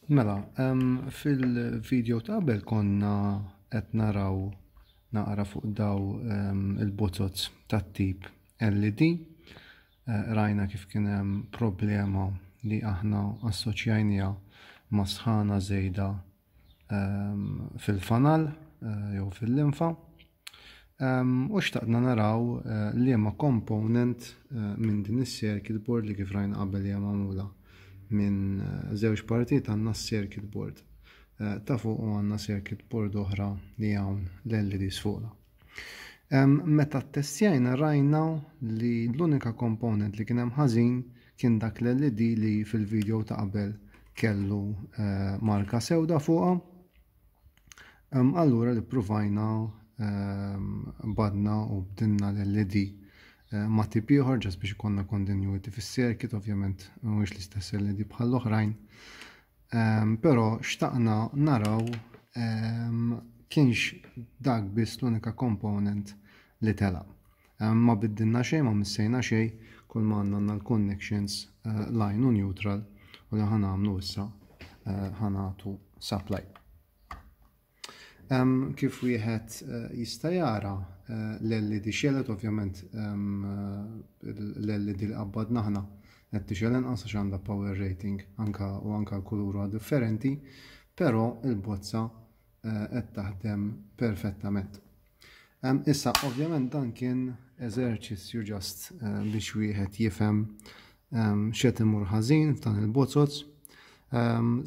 Mela, fil-video ta' qabel konna qed naraw naqra fuq daw il-bozoz tat-tip LED. Eh, rajna kif kien hemm problema li aħna assoċjajniha ma' sħana żejda fil-fanal eh, jew fil-linfa. U xtaqna naraw eh, liema component eh, minn din is-circuit board li kif rajna qabel hija magħmula minn żewġ partijiet għandna circuit board ta' fuq u għandna circuit board oħra li hawn l-LEDs fuqna. Meta ttestjajna rajna li l-unika component li kien hemm ħażin kien dak l-LED li fil-video ta' qabel kellu eh, marka sewda fuqha. Allura li provajna badna u bdilna l-LED eh, ma' tip ieħor ġas biex ikollna continuity fis-circuit, ovvjament mhuwiex l-istess LED bħall-oħrajn. Però xtaqna naraw kienx dak biss l-unika component li tela. Ma biddilna xejn, ma missejna xejn, kull ma għandna għandna l-connections eh, line u neutral u li ħanamlu issa eh, ħanatu supply. Kif wieħed eh, jista' jara eh, l-LED xelet ovvjament eh, l-LED li qabbadna aħna qed tixgħel inqas għax għandha power rating anka u anka l-kulur huwa differenti, però il-bozza qed taħdem perfettament. Issa, ovvjament dan kien eżerċizzju ġast eh, biex wieħed jifhem x'qed imur ħażin f'dan il-bozoz.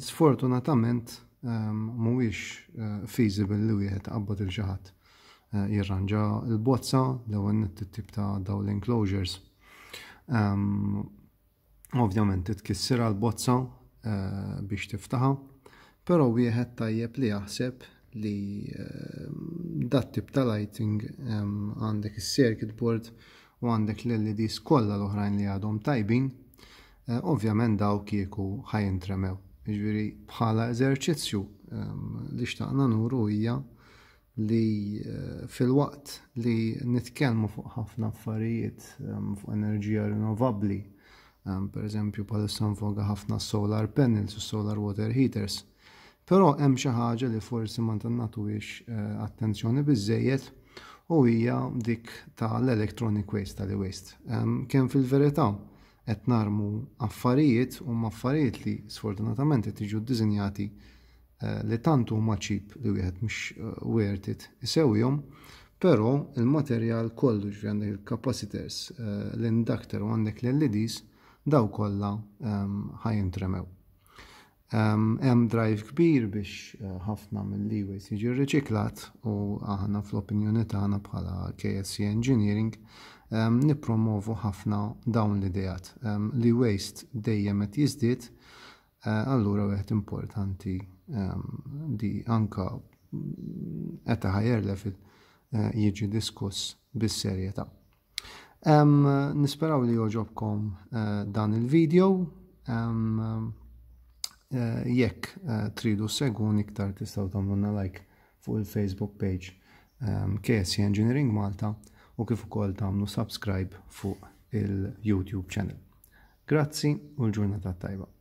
Sfortunatament mhuwiex eh, feasible li wieħed qabbad il xi ħadd eh, jirranġa l-bozza l-ewwel nett it-tip ta' dawn l-enclosures. Ovvjament titkissirha l-bozza eh, biex tiftaħa, però wieħed tajjeb li jaħseb li eh, dat tip ta' lighting eh, għandek is-circuit board u għandek l-LEDs kollha l-oħrajn li għadhom tajbin, ovvjament daw kieku ħajintremew. Jiġifieri bħala eżerċizzju li xtaqna nuru hija li eh, filwaqt li nitkellmu fuq ħafna affarijiet ehm, fuq enerġija rinnovabbli, ehm, per eżempju bħalissa nfoga ħafna solar panels u solar water heaters, però hemm xi ħaġa li forsi ma nagħtuhiex eh, attenzjoni biżejjed u hija dik tal-electronic waste tal-waste. Ehm, kemm fil-verità qed narmu affarijiet u affarijiet li sfortunatament qed jiġu ddisinjati eh, li tant huma cheap li wieħed mhux eh, worth it isewwihom, però il-materjal kollu ġifieri għandek il-capacitors, eh, l-inductor u għandek l-LEDs daw kollha ehm, ħajintremew. Ehm, hemm drive kbir biex ħafna mill-e-waste jiġi rriċiklat u aħna fl-opinjoni tagħna bħala KSC Engineering ehm, nippromovu ħafna dawn l-ideat. Li waste dejjem qed jiżdied Allura wieħed importanti li anka at a higher level jiġi diskuss bis-serjetà. Nisperaw li joġobkom dan il-video. Jekk tridu segwuni iktar tistgħu tagħmlulna like fuq il-Facebook page KSC Engineering Malta u kif ukoll tagħmlu subscribe fuq il-YouTube channel. Grazzi u l-ġurnata tajba.